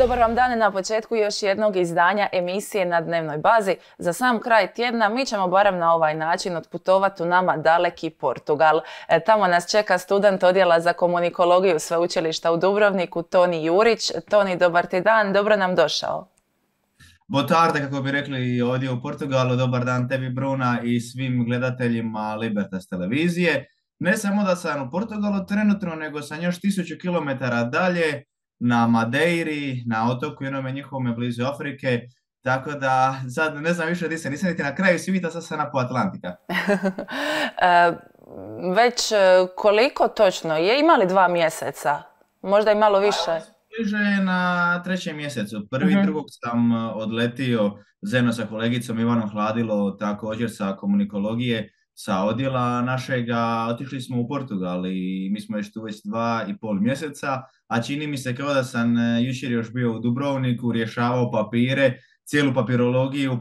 Dobar vam dan na početku još jednog izdanja emisije Na dnevnoj bazi. Za sam kraj tjedna mi ćemo barem na ovaj način otputovati u nama daleki Portugal. Tamo nas čeka student odjela za komunikologiju Sveučilišta u Dubrovniku, Toni Jurić. Toni, dobar ti dan, dobro nam došao. Boa tarde, kako bi rekli ovdje u Portugalu. Dobar dan tebi, Bruna, i svim gledateljima Libertas televizije. Ne samo da sam u Portugalu trenutno, nego sam još 1000 kilometara dalje na Madeiri, na otoku jednome njihovome blizu Afrike. Tako da sad ne znam više gdje se, nisam niti na kraju svijeta, sad sam na po Atlantika. Već koliko točno je? Ima li 2 mjeseca? Možda i malo više? Bliže na 3. mjesecu. 1.2. sam odletio zajedno sa kolegicom Ivanom Hladilo, također sa komunikologije, sa odjela našega. Otišli smo u Portugal i mi smo još tu već 2,5 mjeseca, a čini mi se kao da sam jučer još bio u Dubrovniku, rješavao papire, cijelu papirologiju,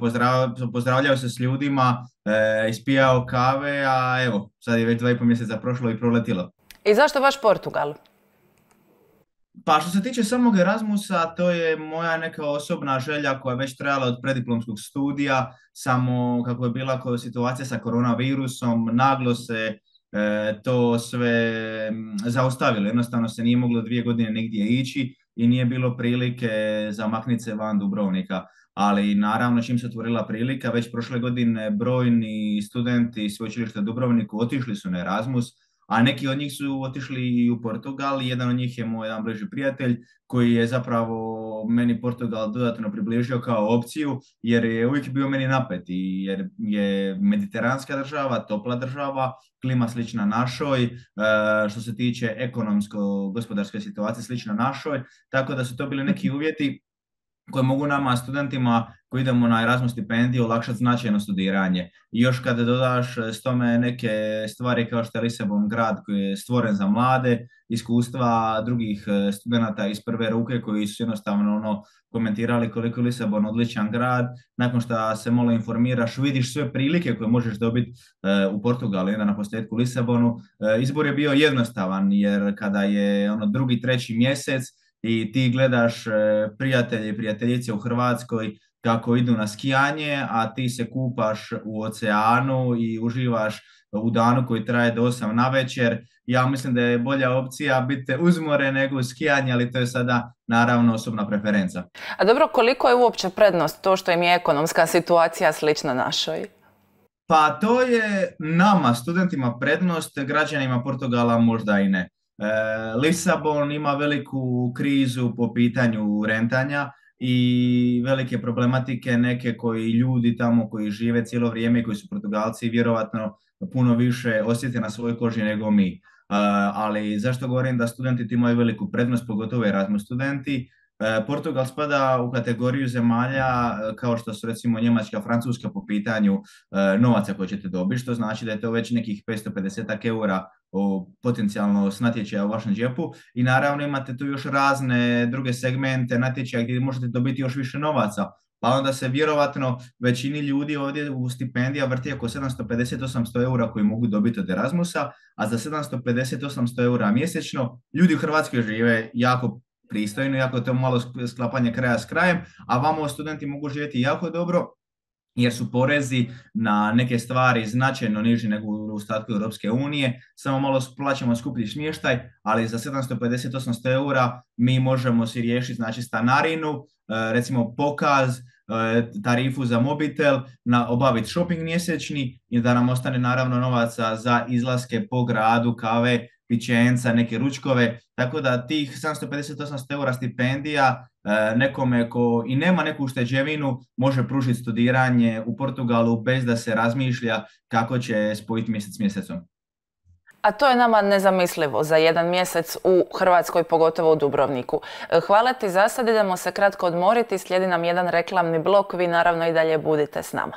pozdravljao se s ljudima, ispijao kave, a evo, sad je već 2,5 mjeseca prošlo i proletilo. I zašto baš Portugal? Pa što se tiče samog Erasmusa, to je moja neka osobna želja koja je već trajala od preddiplomskog studija, samo kako je bila situacija sa koronavirusom, naglo se to sve zaustavilo. Jednostavno se nije moglo 2 godine nigdje ići i nije bilo prilike za makniti se van Dubrovnika. Ali naravno čim se otvorila prilika, već prošle godine brojni studenti Sveučilišta u Dubrovniku otišli su na Erasmus, a neki od njih su otišli i u Portugal. Jedan od njih je moj jedan bliži prijatelj koji je zapravo meni Portugal dodatno približio kao opciju, jer je uvijek bio meni napet, jer je mediteranska država, topla država, klima slična našoj, što se tiče ekonomsko-gospodarske situacije slična našoj, tako da su to bili neki uvjeti koje mogu nama studentima koji idemo na Erasmus stipendiju olakšati značajno studiranje. I još kada dodaš s tome neke stvari kao što je Lisabon grad koji je stvoren za mlade, iskustva drugih studenata iz prve ruke koji su jednostavno komentirali koliko je Lisabon odličan grad, nakon što se malo informiraš, vidiš sve prilike koje možeš dobiti u Portugalu i na posljedku Lisabonu. Izbor je bio jednostavan jer kada je 2., 3. mjesec i ti gledaš prijatelje i prijateljice u Hrvatskoj kako idu na skijanje, a ti se kupaš u oceanu i uživaš u danu koji traje do 8 navečer. Ja mislim da je bolja opcija biti uz more nego skijanje, ali to je sada naravno osobna preferenca. A dobro, koliko je uopće prednost to što im je ekonomska situacija slična našoj? Pa to je nama, studentima, prednost, građanima Portugala možda i ne. Lisabon ima veliku krizu po pitanju rentanja i velike problematike, neke koji ljudi tamo koji žive cijelo vrijeme i koji su Portugalci vjerovatno puno više osjete na svojoj koži nego mi. Ali zašto govorim da studenti ti imaju veliku prednost, pogotovo Erasmus studenti? Portugal spada u kategoriju zemalja kao što su recimo Njemačka, Francuska po pitanju novaca koje ćete dobiti, što znači da je to već nekih 550 eura potencijalno s natječaja u vašem džepu i naravno imate tu još razne druge segmente natječaja gdje možete dobiti još više novaca. Pa onda se vjerovatno većini ljudi ovdje u stipendija vrti oko 750-800 eura koji mogu dobiti od Erasmusa, a za 750-800 eura mjesečno ljudi u Hrvatskoj žive jako pristojno, jako je to malo sklapanje kraja s krajem, a vamo studenti mogu živjeti jako dobro jer su porezi na neke stvari značajno niži nego u ostatku Europske unije, samo malo plaćamo skuplji smještaj, ali za 750-800 eura mi možemo si riješiti znači stanarinu, recimo pokaz, tarifu za mobitel, obaviti shopping mjesečni i da nam ostane naravno novaca za izlaske po gradu, kave, pićenca, neke ručkove, tako da tih 750-800 eura stipendija nekome ko i nema neku ušteđevinu može pružiti studiranje u Portugalu bez da se razmišlja kako će spojiti mjesec s mjesecom. A to je nama nezamislivo za 1 mjesec u Hrvatskoj, pogotovo u Dubrovniku. Hvala ti za sad, idemo se kratko odmoriti, slijedi nam jedan reklamni blok, vi naravno i dalje budite s nama.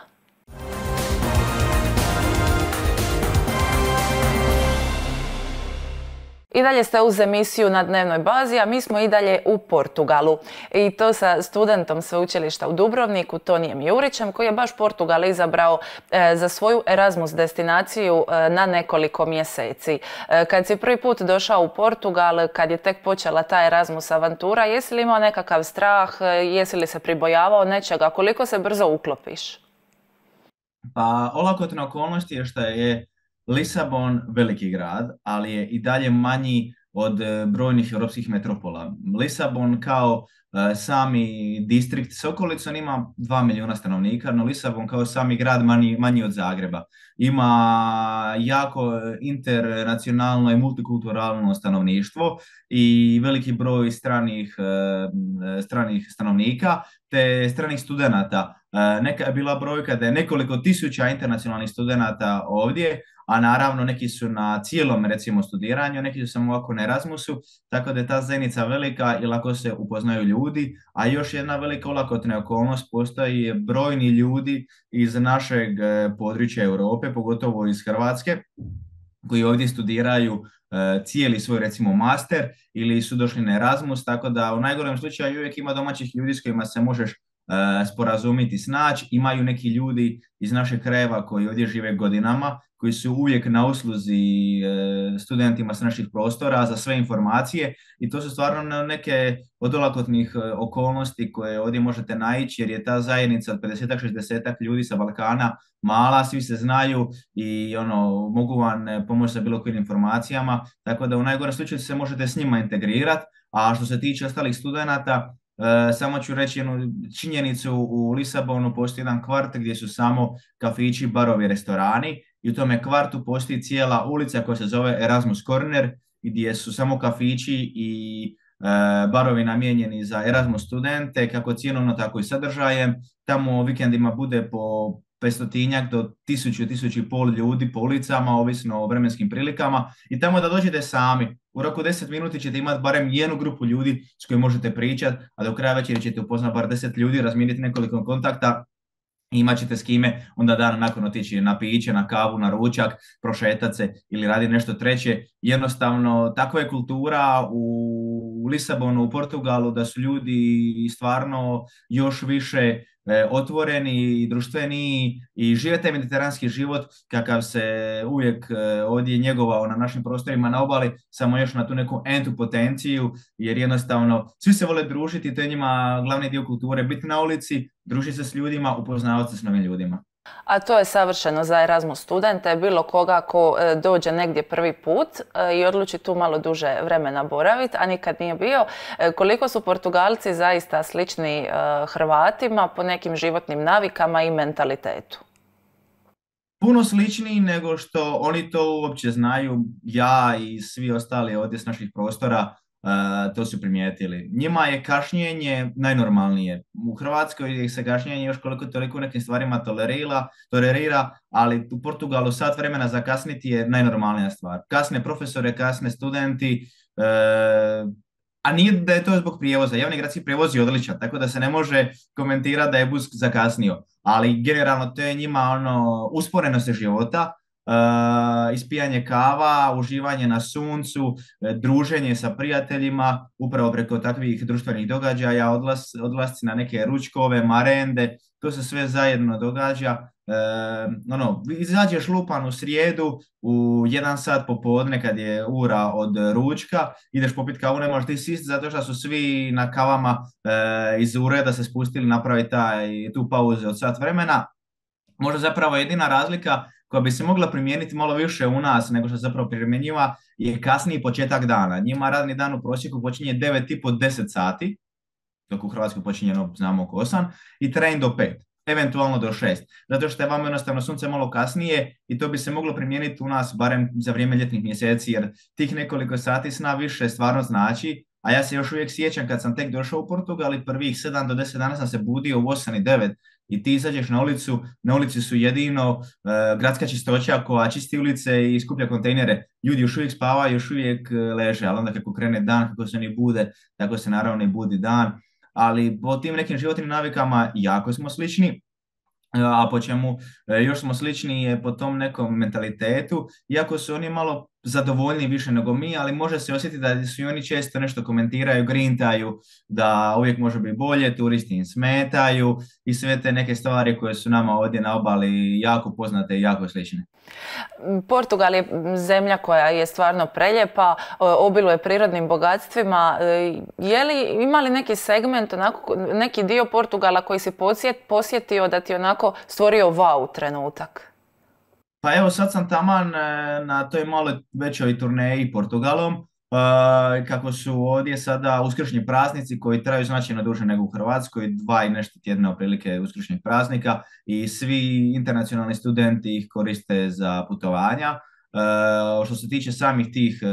I dalje ste uz emisiju na dnevnoj bazi, a mi smo i dalje u Portugalu. I to sa studentom sveučilišta u Dubrovniku, Tonijem Jurićem, koji je baš Portugal izabrao za svoju Erasmus destinaciju na nekoliko mjeseci. Kad si prvi put došao u Portugal, kad je tek počela ta Erasmus avantura, jesi li imao nekakav strah, jesi li se pribojavao nečega, koliko se brzo uklopiš? Pa olakotna okolnost je što je Lisabon veliki grad, ali je i dalje manji od brojnih europskih metropola. Lisabon kao sami distrikt s okolicom ima 2 milijuna stanovnika, no Lisabon kao sami grad manji od Zagreba. Ima jako internacionalno i multikulturalno stanovništvo i veliki broj stranih stanovnika te stranih studenata. Neka je bila brojka da je nekoliko tisuća internacionalnih studenata ovdje, a naravno neki su na cijelom recimo studiranju, neki su samo ovako na Erasmusu, tako da je ta zajednica velika i lako se upoznaju ljudi, a još jedna velika olakotna okolnost, postoji brojni ljudi iz našeg područja Europe, pogotovo iz Hrvatske, koji ovdje studiraju cijeli svoj recimo master ili su došli na Erasmus, tako da u najgorem slučaju uvijek ima domaćih ljudi s kojima se možeš sporazumiti, snaći. Imaju neki ljudi iz našeg krajeva koji ovdje žive godinama, koji su uvijek na usluzi studentima s naših prostora za sve informacije i to su stvarno neke od olakotnih okolnosti koje ovdje možete naići jer je ta zajednica od 50-60 ljudi sa Balkana mala, svi se znaju i mogu vam pomoći sa bilo kojim informacijama, tako da u najgorem slučaju se možete s njima integrirati, a što se tiče ostalih studenata, samo ću reći jednu činjenicu, u Lisabonu postoji jedan kvart gdje su samo kafići, barovi, restorani i u tome kvartu postoji cijela ulica koja se zove Erasmus Corner gdje su samo kafići i barovi namijenjeni za Erasmus studente, kako cjenovno tako i sadržajem. Tamo vikendima bude po 500 do 1000-1500 ljudi po ulicama, ovisno o vremenskim prilikama i tamo da dođete sami. U roku 10 minuti ćete imati barem jednu grupu ljudi s kojim možete pričati, a do kraja večeri ćete upoznati bar 10 ljudi, razmijeniti nekoliko kontakta i imat ćete s kime onda dan nakon otići na piće, na kavu, na ručak, prošetat se ili raditi nešto treće. Jednostavno, takva je kultura u Lisabonu, u Portugalu, da su ljudi stvarno još više otvoreni i društveniji i žive taj mediteranski život kakav se uvijek ovdje njegovao na našim prostorima na obali, samo još na tu neku entu potenciju, jer jednostavno svi se vole družiti, to je njima glavni dio kulture, biti na ulici, družiti se s ljudima, upoznavati se s novim ljudima. A to je savršeno za Erasmus studente, bilo koga ko dođe negdje prvi put i odluči tu malo duže vremena boraviti, a nikad nije bio. Koliko su Portugalci zaista slični Hrvatima po nekim životnim navikama i mentalitetu? Puno sličniji nego što oni to uopće znaju. Ja i svi ostali ovdje s naših prostora to su primijetili. Njima je kašnjenje najnormalnije. U Hrvatskoj se kašnjenje još koliko toliko u nekim stvarima tolerira, ali u Portugalu sat vremena zakasniti je najnormalnija stvar. Kasne profesore, kasne studenti, a nije da je to zbog prijevoza. Javni gradski prijevoz je odličan, tako da se ne može komentirati da je bus zakasnio. Ali generalno to je njima usporenost života, ispijanje kava, uživanje na suncu, druženje sa prijateljima, upravo preko takvih društvenih događaja, odlasci na neke ručkove, marende, to se sve zajedno događa. Izađeš lupan u srijedu u 1 sat popodne kad je ura od ručka, ideš popit kavu, ne možeš ti sist zato što su svi na kavama iz ureda se spustili napraviti tu pauzu od sat vremena. Možda zapravo jedina razlika koja bi se mogla primijeniti malo više u nas nego što se zapravo primjenjiva je kasniji početak dana. Njima radni dan u prosjeku počinje 9,5-10 sati, dok u Hrvatskoj počinje, znamo, oko 8, i traje do 5, eventualno do 6. Zato što je vam jednostavno sunce malo kasnije i to bi se moglo primijeniti u nas barem za vrijeme ljetnih mjeseci, jer tih nekoliko sati sna više stvarno znači. A ja se još uvijek sjećam kad sam tek došao u Portugal i prvih 7 do 10 dana sam se budio u 8 i 9 i ti izađeš na ulici su jedino gradska čistoća koja čisti ulice i skuplja kontejnere. Ljudi još uvijek spavaju, još uvijek leže, ali onda kako krene dan, kako se oni bude, tako se naravno i budi dan. Ali po tim nekim životnim navikama jako smo slični. A po čemu još smo slični je po tom nekom mentalitetu, iako su oni malo zadovoljniji više nego mi, ali može se osjetiti da su i oni često nešto komentiraju, grintaju, da uvijek može biti bolje, turisti im smetaju i sve te neke stvari koje su nama ovdje na obali jako poznate i jako slične. Portugal je zemlja koja je stvarno preljepa, obiluje prirodnim bogatstvima. Ima li neki segment, onako, neki dio Portugala koji si posjetio da ti onako stvorio wow trenutak? Pa evo sad sam taman na toj malo većoj turneji Portugalom, kako su ovdje sada uskršnji praznici koji traju značajno duže nego u Hrvatskoj, 2 i nešto tjedna otprilike uskršnjih praznika i svi internacionalni studenti ih koriste za putovanja. Što se tiče samih tih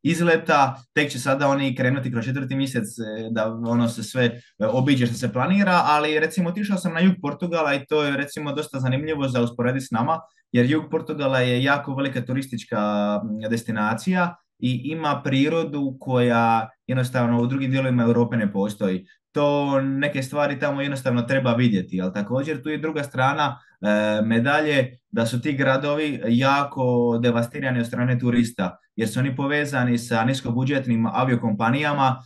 izleta, tek će sada oni krenuti kroz 4. mjesec da ono se sve obiđe što se planira, ali recimo otišao sam na jug Portugala i to je recimo dosta zanimljivo za usporediti s nama, jer jug Portugala je jako velika turistička destinacija i ima prirodu koja jednostavno u drugim dijelovima Europe ne postoji. To neke stvari tamo jednostavno treba vidjeti, ali također tu je druga strana medalje da su ti gradovi jako devastirani od strane turista, jer su oni povezani sa niskobudžetnim aviokompanijama,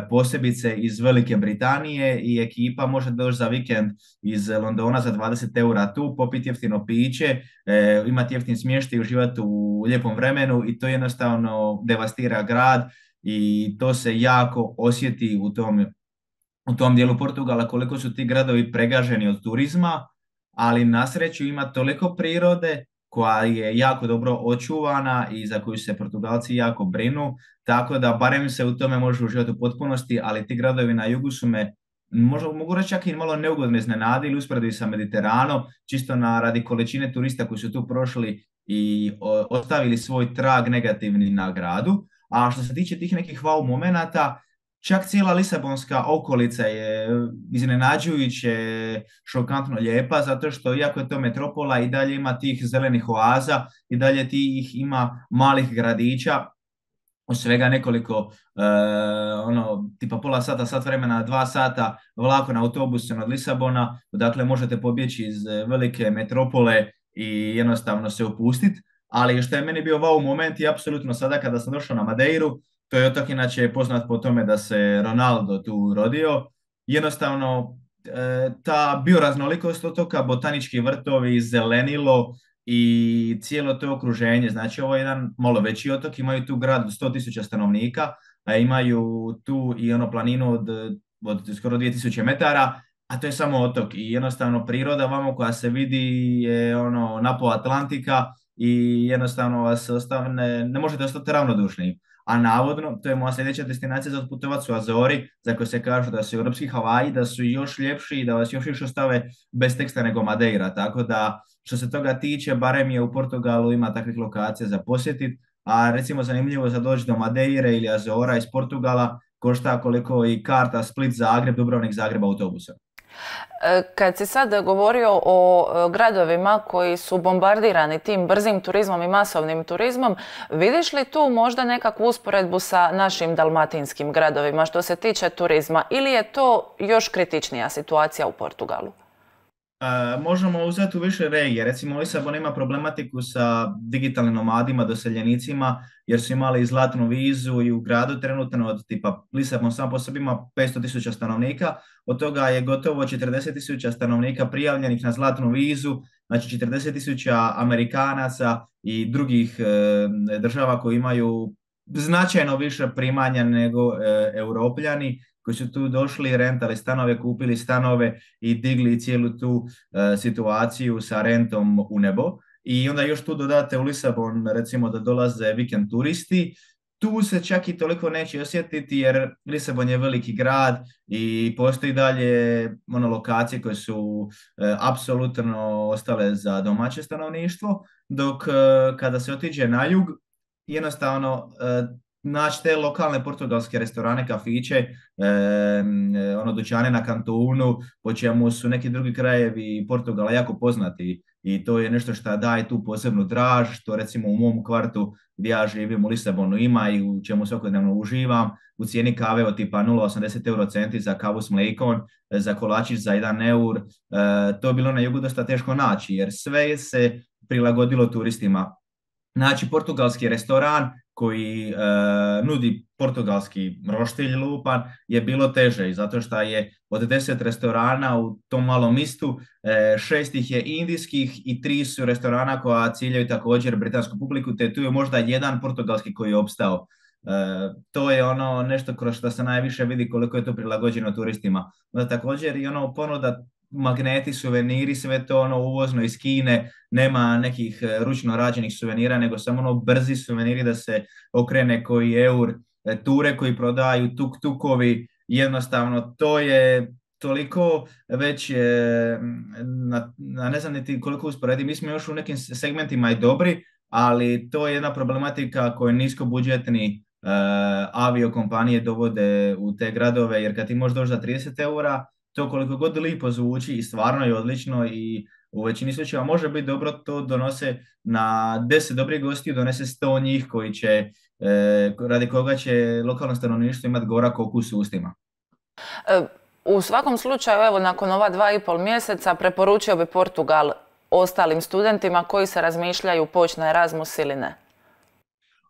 posebice iz Velike Britanije i ekipa može doći za vikend iz Londona za 20 eura tu, popiti jeftino piće, imati jeftin smještaj i uživati u lijepom vremenu i to jednostavno devastira grad i to se jako osjeti u tom dijelu Portugala koliko su ti gradovi pregaženi od turizma, ali na sreću ima toliko prirode koja je jako dobro očuvana i za koju se Portugalci jako brinu, tako da barem se u tome može uživati u potpunosti, ali ti gradovi na jugu su me možda mogu reći čak i malo neugodno iznenadili usporedbi sa Mediteranom, čisto radi količine turista koji su tu prošli i ostavili svoj trag negativni na gradu. A što se tiče tih nekih wow momenata, čak cijela Lisabonska okolica je iznenađujuće šokantno lijepa, zato što iako je to metropola i dalje ima tih zelenih oaza, i dalje tih ima malih gradića, od svega nekoliko, tipa pola sata, sat vremena, 2 sata vlakom na autobusu od Lisabona, dakle možete pobjeći iz velike metropole i jednostavno se opustiti. Ali što je meni bio wow moment i apsolutno sada kada sam došao na Madeiru, to je otok inače poznat po tome da se Ronaldo tu rodio, jednostavno ta bioraznolikost otoka, botanički vrtovi, zelenilo i cijelo to okruženje, znači ovo je jedan malo veći otok, imaju tu grad od 100.000 stanovnika, a imaju tu i planinu od skoro 2000 metara, a to je samo otok i jednostavno priroda vamo koja se vidi je napola Atlantika i jednostavno vas ne možete ostati ravnodušni. A navodno, to je moja sljedeća destinacija za otputovat su Azori, za koje se kažu da su europski Havaji, da su još ljepši i da vas još više ostave bez teksta nego Madeira. Tako da, što se toga tiče, barem je u Portugalu ima takvih lokacija za posjetiti, a recimo zanimljivo za doći do Madeire ili Azora iz Portugala košta koliko i karta Split-Zagreb, Dubrovnik-Zagreb autobusa. Kad si sad govorio o gradovima koji su bombardirani tim brzim turizmom i masovnim turizmom, vidiš li tu možda nekakvu usporedbu sa našim dalmatinskim gradovima što se tiče turizma ili je to još kritičnija situacija u Portugalu? Možemo uzeti u više regije. Recimo Lisabon ima problematiku sa digitalnim nomadima, doseljenicima, jer su imali zlatnu vizu i u gradu trenutno od tipa Lisabon sam po sebi ima 500.000 stanovnika, od toga je gotovo 40.000 stanovnika prijavljenih na zlatnu vizu, znači 40.000 Amerikanaca i drugih država koji imaju značajno više primanja nego Europljani, koji su tu došli, rentali stanove, kupili stanove i digli cijelu tu situaciju sa rentom u nebo. I onda još tu dodate u Lisabon, recimo da dolaze vikend turisti, tu se čak i toliko neće osjetiti jer Lisabon je veliki grad i postoji dalje lokacije koje su apsolutno ostale za domaće stanovništvo, dok kada se otiđe na jug, jednostavno naći te lokalne portugalske restorane, kafiće, dućane na kantunu, po čemu su neki drugi krajevi Portugala jako poznati i to je nešto što daje tu posebnu draž, što recimo u mom kvartu gdje ja živim u Lisabonu ima i u čemu svakodnevno uživam, u cijeni kave od tipa 0,80 eurocenti za kavu s mlekom, za kolačić za 1 eur, to je bilo na jugu dosta teško naći jer sve se prilagodilo turistima. Znači, portugalski restoran koji nudi portugalski roštilj lupan je bilo teže, i zato što je od 10 restorana u tom malom mistu, 6 ih je indijskih i 3 su restorana koja ciljaju također britansku publiku, te tu je možda jedan portugalski koji je opstao. To je ono nešto kroz što se najviše vidi koliko je to prilagođeno turistima. Onda također i ono ponuda, magneti, suveniri, sve to ono uvozno iz Kine, nema nekih ručno rađenih suvenira, nego samo ono brzi suveniri da se okrene koji eur, ture koji prodaju, tuk-tukovi, jednostavno to je toliko već ne znam niti koliko usporedi, mi smo još u nekim segmentima i dobri, ali to je jedna problematika koju niskobudžetni aviokompanije dovode u te gradove, jer kad ti možeš doći za 30 eura, to koliko god lipo zvuči i stvarno je odlično i u većini slučajeva može biti dobro, to donose na 10 dobrih gostiju, donese 100 njih koji će, radi koga će lokalno stanovništvo imati gorak okus u ustima. U svakom slučaju, evo, nakon ova 2,5 mjeseca preporučio bi Portugal ostalim studentima koji se razmišljaju poći na Erasmus ili ne.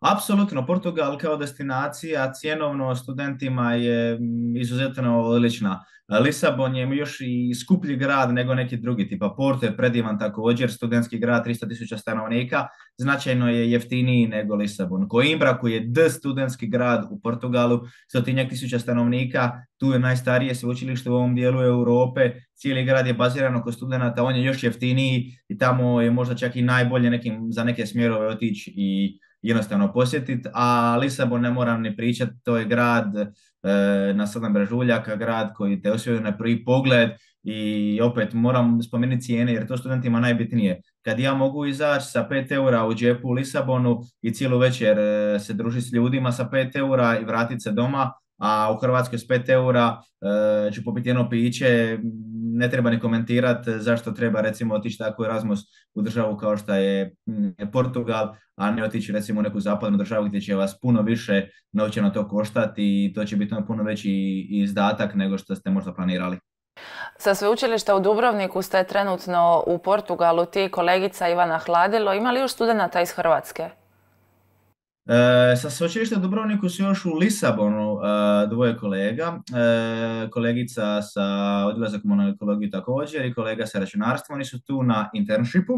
Apsolutno, Portugal kao destinacija cjenovno studentima je izuzetno odlična. Lisabon je još i skuplji grad nego neki drugi, tipa Porto je predivan također, studentski grad, 300.000 stanovnika, značajno je jeftiniji nego Lisabon. Coimbra koji je studentski grad u Portugalu, 100.000 stanovnika, tu je najstarije sveučilište u ovom dijelu Europe, cijeli grad je baziran oko studenata, on je još jeftiniji i tamo je možda čak i najbolje za neke smjerove otići i jednostavno posjetiti, a Lisabon ne moram ni pričati, to je grad na 7 brežuljaka, grad koji te osvoji na prvi pogled i opet moram spomenuti cijene jer to studentima najbitnije. Kad ja mogu izaći sa 5 eura u džepu u Lisabonu i cijelu večer se družiti s ljudima sa 5 eura i vratiti se doma, a u Hrvatskoj s 5 eura ću popiti jedno piće, ne treba ni komentirati zašto treba recimo otići tako Erasmus u državu kao što je Portugal, a ne otići recimo u neku zapadnu državu gdje će vas puno više novčano to koštati i to će biti puno veći izdatak nego što ste možda planirali. Sa sveučilišta u Dubrovniku ste trenutno u Portugalu, ti kolegica Ivana Hladilo. Ima li još studenata iz Hrvatske? Sa sveučilišta u Dubrovniku su još u Lisabonu dvoje kolega, kolegica sa odjela za komunalnu ekologiju također i kolega sa računarstvom, oni su tu na internshipu,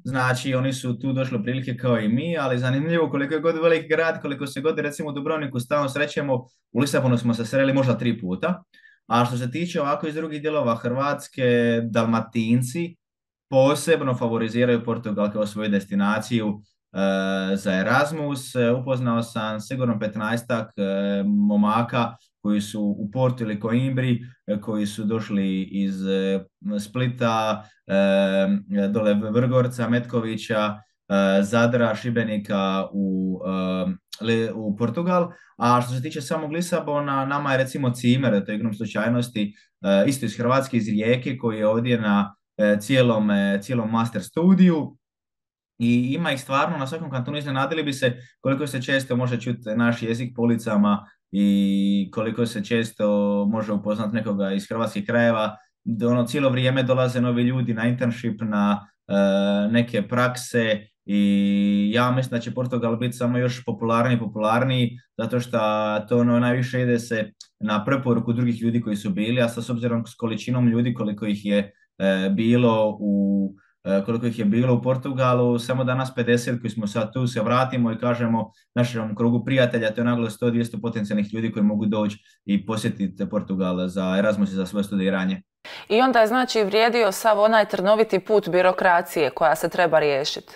znači oni su tu došli prilike kao i mi, ali zanimljivo koliko je god velik grad, koliko se god recimo u Dubrovniku stalno srećemo, u Lisabonu smo se sreli možda 3 puta, a što se tiče ovako iz drugih dijelova Hrvatske, Dalmatinci posebno favoriziraju Portugal kao svoju destinaciju za Erasmus. Upoznao sam sigurno 15-ak momaka koji su u Portu ili Coimbri, koji su došli iz Splita, dole Vrgorca, Metkovića, Zadra, Šibenika u Portugal. A što se tiče samog Lisabona, nama je recimo Cimer, to je igrom slučajnosti, isto iz Hrvatske, iz Rijeke, koji je ovdje na cijelom master studiju. I ima ih stvarno na svakom kantonu, iznenadili bi se koliko se često može čuti naš jezik po ulicama i koliko se često može upoznati nekoga iz hrvatskih krajeva. Cijelo vrijeme dolaze novi ljudi na internship, na neke prakse i ja mislim da će Portugal biti samo još popularniji zato što to najviše ide se na preporuku drugih ljudi koji su bili, a s obzirom s količinom ljudi koliko ih je bilo u Portugalu, samo danas 50 koji smo sad tu se vratimo i kažemo našem krugu prijatelja, to je naglo 100-200 potencijalnih ljudi koji mogu doći i posjetiti Portugal za Erasmus i za svoje studiranje. I onda je znači vrijedio sav onaj trnoviti put birokracije koja se treba riješiti.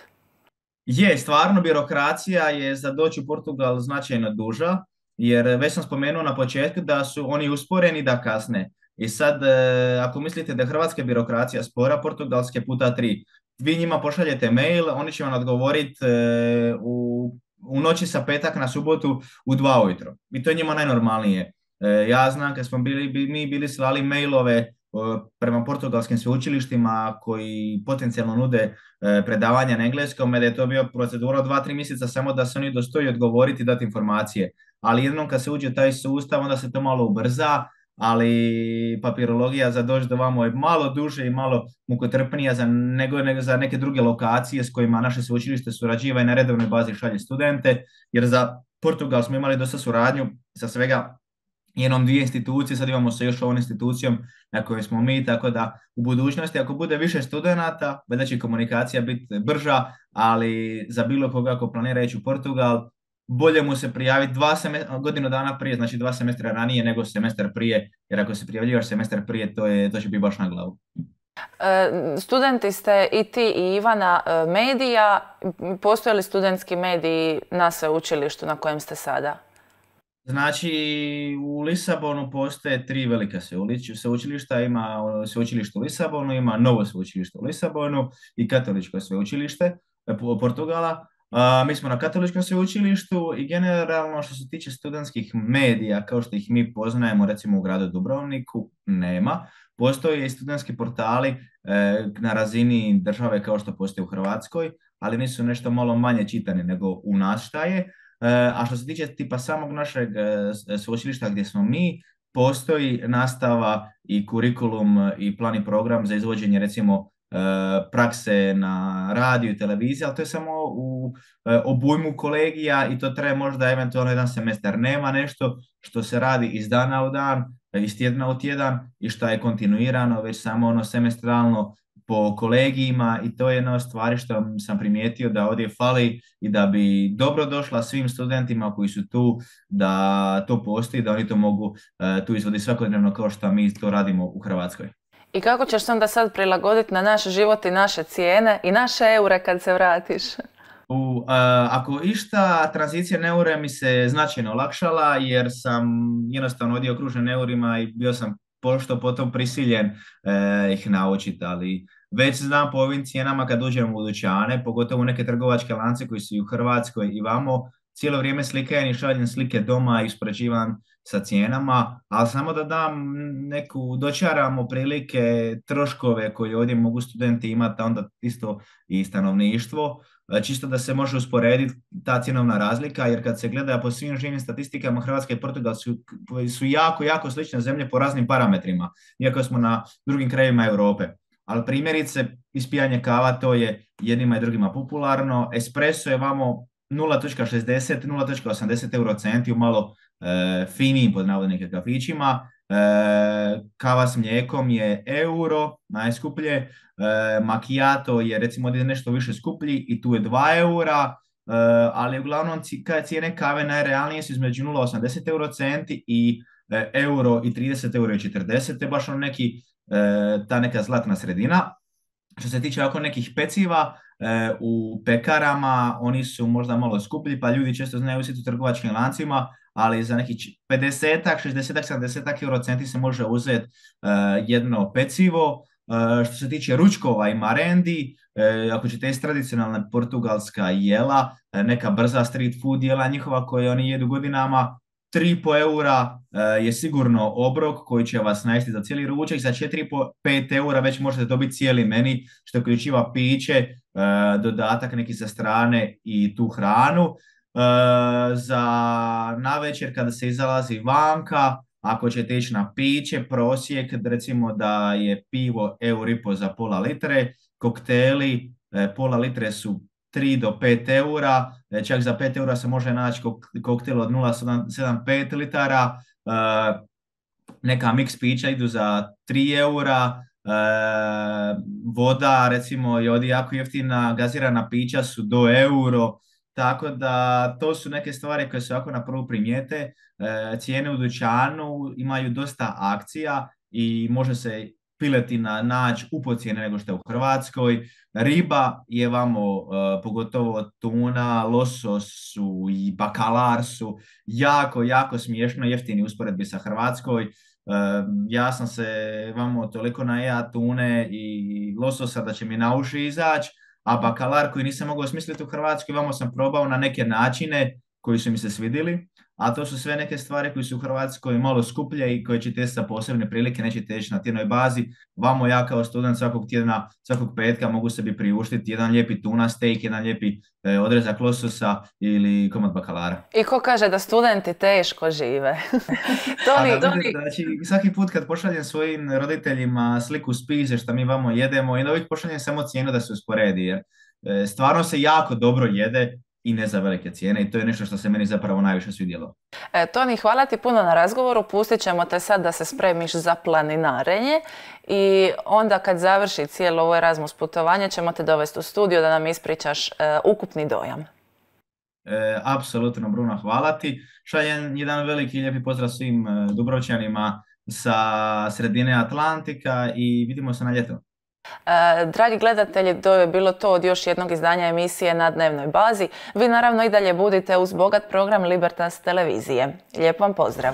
Je, stvarno birokracija je za doći u Portugal značajno duža, jer već sam spomenuo na početku da su oni usporeni da kasne. I sad, ako mislite da je hrvatska birokracija spora, portugalske puta 3. Vi njima pošaljete mail, oni će vam odgovoriti u noći sa petak na subotu u 2 ujutro. I to je njima najnormalnije. Ja znam kad smo mi bili slali mailove prema portugalskim sveučilištima koji potencijalno nude predavanja na engleskom, da je to bio procedura od 2-3 mjeseca samo da se oni dostoji odgovoriti i dati informacije. Ali jednom kad se uđe taj sustav, onda se to malo ubrza, ali papirologija za doći do vamo je malo duže i malo mukotrpnija nego za neke druge lokacije s kojima naše sveučilište surađiva i na redovnoj bazi šalje studente, jer za Portugal smo imali dosta suradnju sa svega jednom dvije institucije, sad imamo sa još ovom institucijom na kojoj smo mi, tako da u budućnosti ako bude više studenata, valjda će komunikacija biti brža, ali za bilo koga ako planira ići u Portugal, bolje mu se prijaviti godinu dana prije, znači 2 semestra ranije nego semestar prije, jer ako se prijavljivaš semestar prije, to će biti baš na glavu. Studenti ste i ti i Ivana medija. Postoje li studentski mediji na sveučilištu na kojem ste sada? Znači, u Lisabonu postoje 3 velika sveučilišta. Ima sveučilište u Lisabonu, ima novo sveučilište u Lisabonu i katoličko sveučilište Portugala. Mi smo na katoličkom sveučilištu i generalno što se tiče studentskih medija, kao što ih mi poznajemo recimo u gradu Dubrovniku, nema. Postoje i studentski portali na razini države kao što postoje u Hrvatskoj, ali nisu nešto malo manje čitani nego u nas šta je. A što se tiče tipa samog našeg sveučilišta gdje smo mi, postoji nastava i kurikulum i plan i program za izvođenje recimo prakse na radiju i televiziji, ali to je samo u obujmu kolegija i to traje možda eventualno jedan semestar. Nema nešto što se radi iz dana u dan, iz tjedna u tjedan i što je kontinuirano, već samo ono semestralno po kolegijima i to je jedna od stvari što sam primijetio da ovdje fali i da bi dobro došla svim studentima koji su tu da to postoji, da oni to mogu tu izvoditi svakodnevno kao što mi to radimo u Hrvatskoj. I kako ćeš se onda sad prilagoditi na naš život i naše cijene i naše eure kad se vratiš? Ako išta, tranzicija na eure mi se značajno olakšala jer sam jednostavno ovdje okružen eurima i bio sam pošto potom prisiljen ih naučiti, ali već znam po ovim cijenama kad uđem u dućane, pogotovo neke trgovačke lance koji su i u Hrvatskoj i vamo, cijelo vrijeme slikajem i šaljem slike doma i uspoređivam sa cijenama, ali samo da dam neku, dočaramo prilike troškove koje ovdje mogu studenti imati, a onda isto i stanovništvo, čisto da se može usporediti ta cjenovna razlika, jer kad se gleda po svim živim statistikama, Hrvatska i Portugal su jako, jako slične zemlje po raznim parametrima, iako smo na drugim krajevima Europe. Ali primjerice, ispijanje kava, to je jednima i drugima popularno, espresso je vamo 0,60, 0,80 eurocenti u malo finijim pod navodnike kafićima, kava s mlijekom je euro, najskuplje, macchiato je recimo nešto više skuplji i tu je 2 eura, ali uglavnom cijene kave najrealnije su između 0,80 eurocenti i euro i 30 euro i 40, to je baš neki, ta neka zlatna sredina. Što se tiče ovako nekih peciva, u pekarama oni su možda malo skuplji, pa ljudi često znaju usjeti u trgovačkim lancima, ali za nekih 50, 60, 70 eurocenti se može uzeti jedno pecivo. Što se tiče ručkova i marendi, ako ćete jesti tradicionalna portugalska jela, neka brza street food jela njihova koje oni jedu godinama, 3,5 eura je sigurno obrok koji će vas najesti za cijeli ručak, za 4,5-5 eura već možete dobiti cijeli meni što uključiva piće, dodatak neki sa strane i tu hranu. Za navečer kada se izlazi vanka, ako ćete ići na piće, prosjek recimo da je pivo euro za pola litre, kokteli pola litre su 3 do 5 eura, čak za 5 eura se može naći koktel od 0,75 litara, neka mix pića idu za 3 eura, voda recimo je ovdje jako jeftina, gazirana pića su do euro, tako da to su neke stvari koje se ovako na prvu primijete. Cijene u dućanu imaju dosta akcija i može se piletina naći u cijene nego što je u Hrvatskoj. Riba je vamo, pogotovo tuna, losos su i bakalar su jako, jako smiješno jeftini usporedbi sa Hrvatskoj. Ja sam se vamo toliko najea tune i lososa da će mi na uši izaći, a bakalar koji nisam mogao smisliti u Hrvatskoj, vamo sam probao na neke načine koji su mi se svidjeli, a to su sve neke stvari koje su u Hrvatskoj malo skuplje i koje ćete sa posebne prilike, nećete ići na tjednoj bazi. Vamo ja kao student svakog tjedna, svakog petka mogu sebi priuštiti jedan lijepi tuna steak, jedan lijepi odrezak lososa ili komad bakalara. I ko kaže da studenti teško žive? Znači, svaki put kad pošaljem svojim roditeljima sliku spise što mi vamo jedemo i uvijek pošaljem samo cijenu da se usporedi, jer stvarno se jako dobro jede i ne za velike cijene i to je nešto što se meni zapravo najviše svidjelo. Toni, hvala ti puno na razgovoru. Pustit ćemo te sad da se spremiš za planinarenje i onda kad završi cijelo ovo Erasmus putovanje ćemo te dovesti u studio da nam ispričaš ukupni dojam. Apsolutno, Bruno, hvala ti. Šaljem jedan veliki i lijepi pozdrav svim Dubrovčanima sa sredine Atlantika i vidimo se na ljeto. Dragi gledatelji, to je bilo to od još jednog izdanja emisije Na dnevnoj bazi. Vi naravno i dalje budite uz bogat program Libertas televizije. Lijep vam pozdrav!